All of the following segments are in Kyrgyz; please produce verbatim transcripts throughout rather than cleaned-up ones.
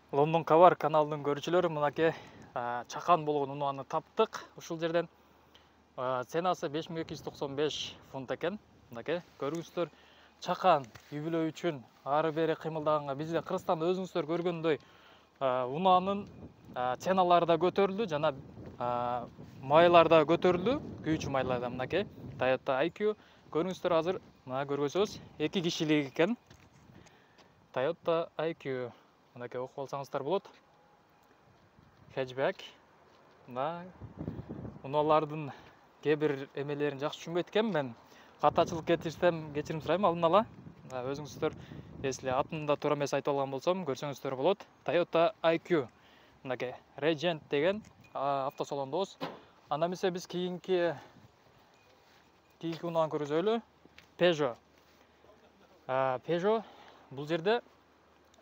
Лондон Кабар каналынын көрүүчүлөрү, мынакей чакан болгон унааны таптык. Ушул жерден ценасы беш миң эки жүз токсон беш фунт экен. Мынакей көрүңүздөр, чакан үй бүлө үчүн ары бери кыймылдаганга бизде Кыргызстанда өзүңүздөр көргөндөй унаанын ценалары да көтөрүлдү жана майлар да көтөрүлдү. Күйүүчү майлар да мынакей Toyota ай кью. Көрүңүздөр, азыр мына көргөзөбүз. эки кишилик экен. Toyota ай кью. Мынакей окуп алсаңыздар болот. Хэтчбэк. Мына унаалардын кээ бир эмелерин жакшы түшүнбөйт экенмин мен. Катачылык кетирсем кечирим сурайм алдын ала. Өзүңүздөр если атын да туура эмес айтып алган болсом көрсөңүздөр болот. Toyota ай кью. Мынакей Regent деген автосалондобуз. Анда эмесе биз кийинки кийинки унааны көргөзөлү. Peugeot. Peugeot бул жерде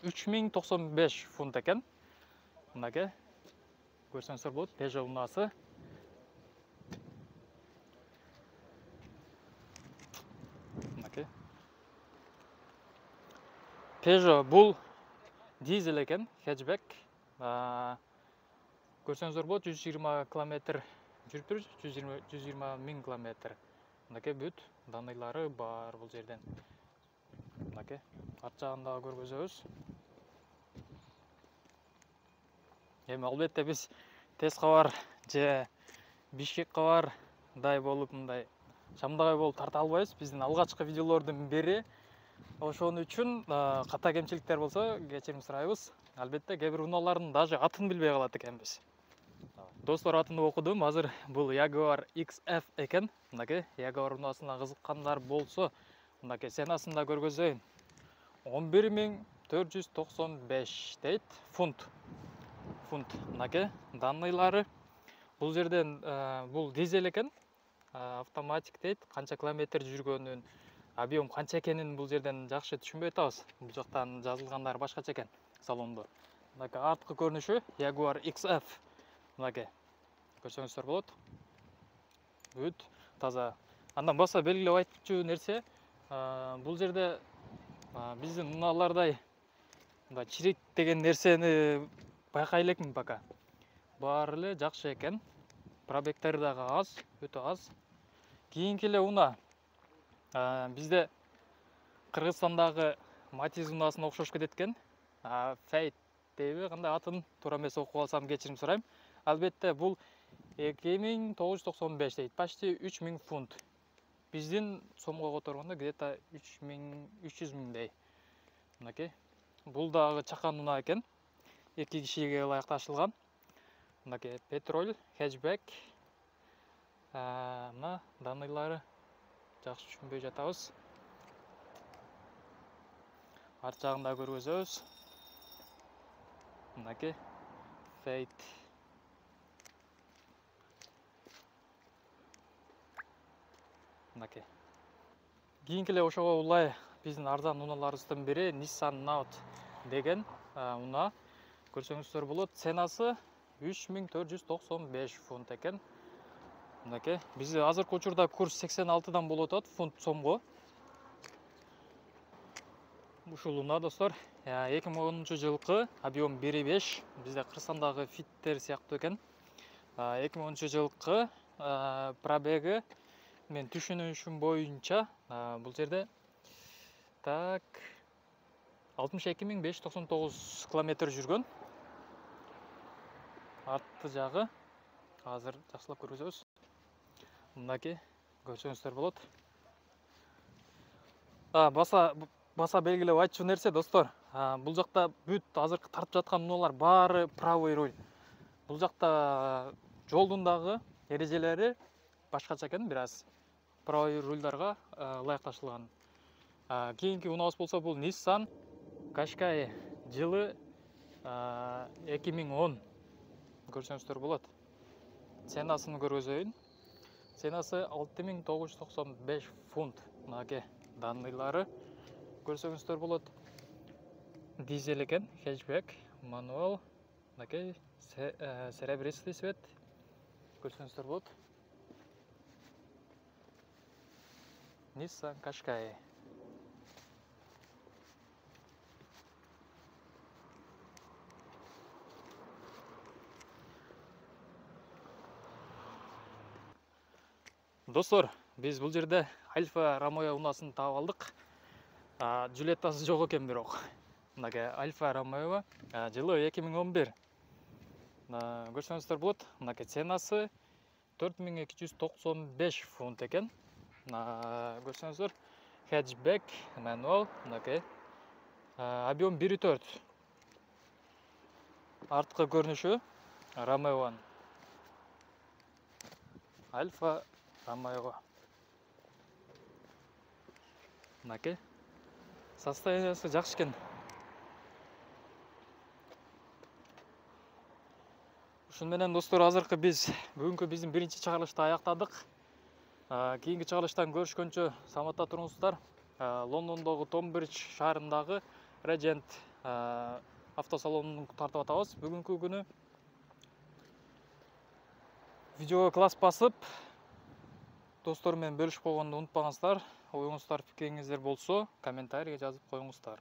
үч миң токсон беш фунт экен. Мынакей көрсөңүздөр болот. Peugeot унаасы. Мынакей. Peugeot бул дизель экен, хэтчбэк. Көрсөңүздөр болот, жүз жыйырма километр жүрүптүр, жүз жыйырма миң километр. Мынакей бүт даныйлары бар бул жерден. Мынакей арт жагын да көргөзөбүз. Эми албетте биз Тез кабар же Бишкек кабардай болуп мындай шамдагай болуп тарта албайбыз. Биздин алгачкы видеолордун бири. Ошон үчүн ката кемчиликтер болсо кечирим сурайбыз. Албетте кээ бир унаалардын даже атын билбей калат экенбиз. Достор, атын окудум. Азыр бул Jaguar икс эф экен. Мынакей Jaguar унаасына кызыккандар болсо, мынакей ценасын да көргөзөйүн. он бир миң төрт жүз токсон беш дейт фунт. Фунт. Мынакей данныйлары. Бул жерден бул дизель экен. Автоматик дейт. Канча километр жүргөнүн, объем канча экенин бул жерден жакшы түшүнбөй атабыз. Бул жактан жазылгандар башкача экен салондо. Мынакей арткы көрүнүшү Jaguar икс эф. Мынакей көрсөңүздөр болот. Бүт таза. Андан баса белгилеп айтчу нерсе, бул жерде биздин унаалардай мындай чирик деген нерсени байкай элекмин пока. Баары эле жакшы экен. Пробегтери дагы аз, өтө аз. Кийинки эле унаа бизде Кыргызстандагы Матиз унаасына окшош кетет экен. Fate дейби, кандай атын туура эмес окуп алсам кечирим сурайм. Албетте бул эки миң тогуз жүз токсон беш дейт, почти үч миң фунт. Биздин сомго которгондо где-то үч жүз миңдей. Мынакей. Бул дагы чакан унаа экен. эки кишиге ылайыкташылган. Мынакей петроль, хэтчбэк. Мына даныйлары жакшы түшүнбөй жатабыз. Арт жагында көргөзөбүз. Мынакей Fate. Мынакей. Кийинки эле ошого улай биздин арзан унааларыбыздын бири Nissan Note деген унаа. Көрсөңүздөр болот. Ценасы үч миң төрт жүз токсон беш фунт экен. Мынакей. Бизде азыркы учурда курс сексен алтыдан болуп атат фунт сомго. Ушул унаа достор, эки миң онунчу жылкы, объем бир и беш. Бизде Кыргызстандагы фиттер сыяктуу экен. эки миң онунчу жылкы пробеги мен түшүнүшүм боюнча бул жерде так алтымыш эки миң беш жүз токсон тогуз километр жүргөн. Арты жагы азыр жакшылап көргөзөбүз. Мынакей көрсөңүздөр болот. Баса баса белгилеп айтчу нерсе достор, бул жакта бүт азыркы тартып жаткан унаалар баары правый руль. Бул жакта жолдун дагы эрежелери башкача экен, бир аз правый рульдарга ылайыкташылган. Кийинки унаабыз болсо бул Nissan Qashqai, жылы эки миң он. Көрсөңүздөр болот. Ценасын көргөзөйүн. Ценасы алты миң тогуз жүз токсон беш фунт. Мынакей даныйлары көрсөңүздөр болот. Дизель экен, хэтчбэк, мануал. Мынакей серебристый цвет. Көрсөңүздөр болот. Nissan Qashqai. Достор, биз бул жерде Альфа Ромео унаасын таап алдык. Джульеттасы жок экен бирок. Мынакей Альфа Ромео жылы эки миң он бир. Көрсөңүздөр болот. Мынакей ценасы төрт миң эки жүз токсон беш фунт экен. Көрсөңүздөр, хэтчбек, мануал, мынакей. Объем бир и төрт. Арткы көрүнүшү Ромеонун. Альфа Ромео. Мынакей. Состояниясы жакшы экен. Ушун менен достор, азыркы биз бүгүнкү биздин биринчи чыгарылышты аяктадык. Кийинки чыгарылыштан көрүшкөнчө саламатта туруңуздар. Лондондогу Томбридж шаарындагы Regent автосалонун тартып атабыз. Бүгүнкү күнү видеого класс басып, достор менен бөлүшүп койгонду унутпаңыздар. Оюңуздар, пикириңиздер болсо, комментарийге жазып коюңуздар.